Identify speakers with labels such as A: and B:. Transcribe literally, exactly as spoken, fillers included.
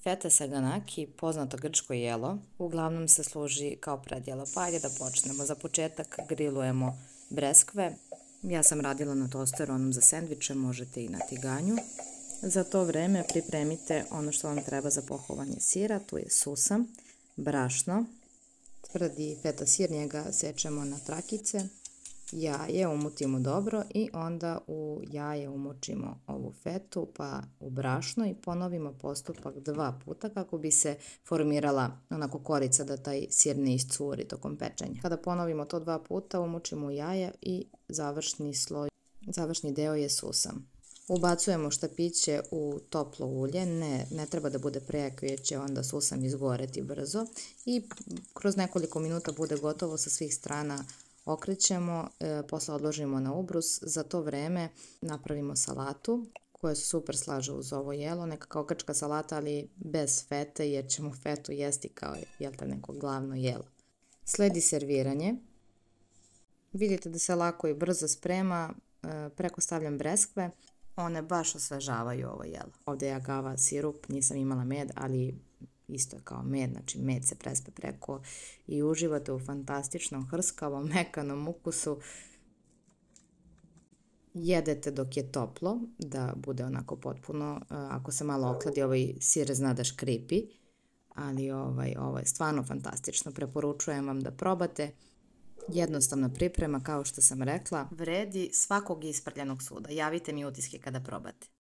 A: Feta saganaki, poznato grčko jelo, uglavnom se služi kao predjelo. Pa ajde da počnemo. Za početak grilujemo breskve. Ja sam radila na tosteru, onom za sendviče, možete i na tiganju. Za to vreme pripremite ono što vam treba za pohovanje sira. Tu je susam, brašno, tvrdi feta sir, njega sečemo na trakice, jaje umutimo dobro i onda u jaje umočimo ovu fetu pa u brašno i ponovimo postupak dva puta kako bi se formirala onako korica da taj sir ne iscuri tokom pečenja. Kada ponovimo to dva puta umočimo u jaje i završni sloj, završni deo je susam. Ubacujemo štapiće u toplo ulje, ne, ne treba da bude prejako jer će onda susam izgoreti brzo i kroz nekoliko minuta bude gotovo sa svih strana. Okrećemo, e, posle odložimo na ubrus, za to vreme napravimo salatu koja se super slaže uz ovo jelo, neka kao grčka salata ali bez fete jer ćemo fetu jesti kao jel te, neko glavno jelo. Sledi serviranje, vidite da se lako i brzo sprema, e, preko stavljam breskve, one baš osvežavaju ovo jelo. Ovdje je agava sirup, nisam imala med, ali isto je kao med, znači med se prespe preko i uživate u fantastičnom, hrskavom, mekanom ukusu. Jedete dok je toplo, da bude onako potpuno, ako se malo okladi, ovaj sir zna da škripi, ali ovaj, ovo je stvarno fantastično, preporučujem vam da probate. Jednostavna priprema, kao što sam rekla, vredi svakog isprljanog suda. Javite mi utiske kada probate.